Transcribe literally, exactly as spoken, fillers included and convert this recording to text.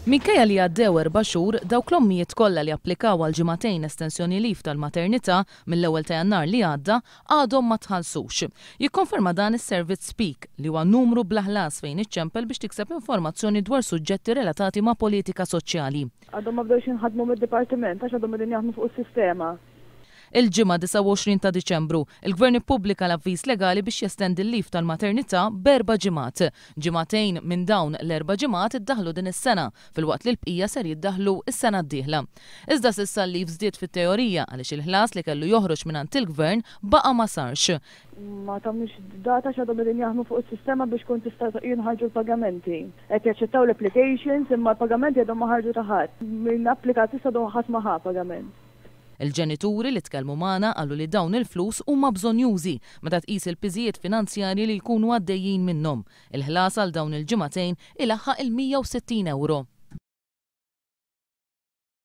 Minkejja li għaddew erba' xhur, dawk l-ommijiet kollha li applikaw għal ġimagħtejn estensjoni leave tal-maternità mill-ewwel ta' Jannar li għadda għadhom ma tħallsux. Jikkonferma dan is-servizz Speak, li huwa numru bla ħlas fejn iċċempel biex tikseb informazzjoni dwar suġġetti relatati ma' politika soċjali. Għadhom ma bdewx jinħadmu mid-dipartiment għax għadhom qegħdin jaħdmu fuq is-sistema. Il-Ġimgħa disgħa u għoxrin ta' Diċembru, il-Gvern ippubblika l-avviż legali biex jestendi l-leave tal-maternità b'erba' ġimgħat. Ġimagħtejn minn dawn l-erba' ġimgħat iddaħħlu din is-sena, filwaqt li l-bqija ser jiddaħħlu s-sena d-dieħla. Iżda s'issa l-leave żdied fit-teorija għaliex il-ħlas li kellu joħroġ mingħand il-Gvern baqa' ma sarx. Ma tawniex data x'għadhom qegħdin jaħdmu fuq is-sistema biex kun tista' jinħarġu l-pagamenti. Qed jaċċettaw l-applications imma l-pagamenti għadhom ma ħarġu ta' ħadd. Min applika s'issa għadhom ħadd ma ħa pagament. Il-ġenituri li tkellmu magħna qalu li dawn il-flus huma bżonjużi meta tqis il-piżijiet finanzjarji li jkunu għaddejjin minnhom. Il-ħlas għal dawn il-ġimagħtejn ilaħħaq il-mija u sittin euro.